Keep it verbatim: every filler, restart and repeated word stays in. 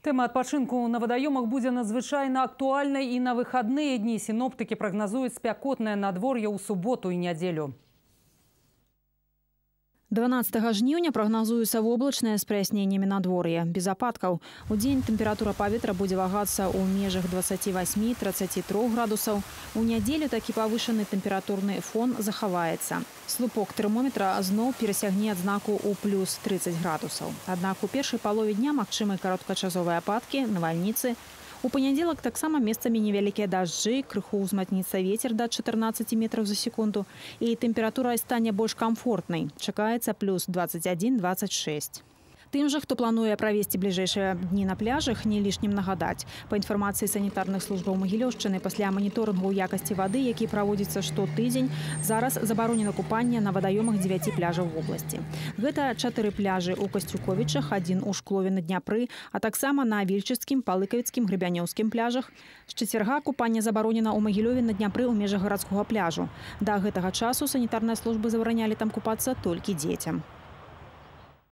Тема адпачынку на вадаёмах будзе надзвычайна актуальнай і на выхадныя дні. Сіноптыкі прагназуюць спякотнае надвор'е ў суботу і нядзелю. дванаццатага жніўня прагназуецца воблачнае з праясненнямі надвор'я, без ападкаў. Удзень тэмпература паветра будзе вагацца ў межах дваццаці васьмі - трыццаці трох градусаў. У нядзелю такі павышаны тэмпературны фон захаваецца. Слупок тэрмометра зноў перасягне адзнаку ў плюс трыццаць градусаў. Аднак у першай палове дня магчымы кароткачасовыя ападкі, навальніцы. У панядзелак таксама месцамі невялікія дажджы, крыху ўзмацніцца вецер да чатырнаццаці метраў за секунду, і тэмпература стане больш камфортнай. Чакаецца плюс дваццаць адзін - дваццаць шэсць. Тым жа, хто плануе правесці бліжэйшыя дні на пляжах, не лішнім нагадаць. Па інфармацыі санітарных службаў Магілёўшчыны, пасля маніторынгу якасці вады, які праводзіцца штотыдзень, зараз забаронена купанне на вадаёмах дзевяці пляжаў вобласці. Гэта чатыры пляжы ў Касцюковічах, адзін у Шклове на Дняпры, а таксама на Вільчыцкім, Палыкавіцкім, Грыбянёўскім пляжах. З чацвярга купанне забаронена ў Магілёве на Дняпры ў межах гарадскога пляжу. Да гэтага часу санітарныя службы забаранялі там купацца толькі дзецям.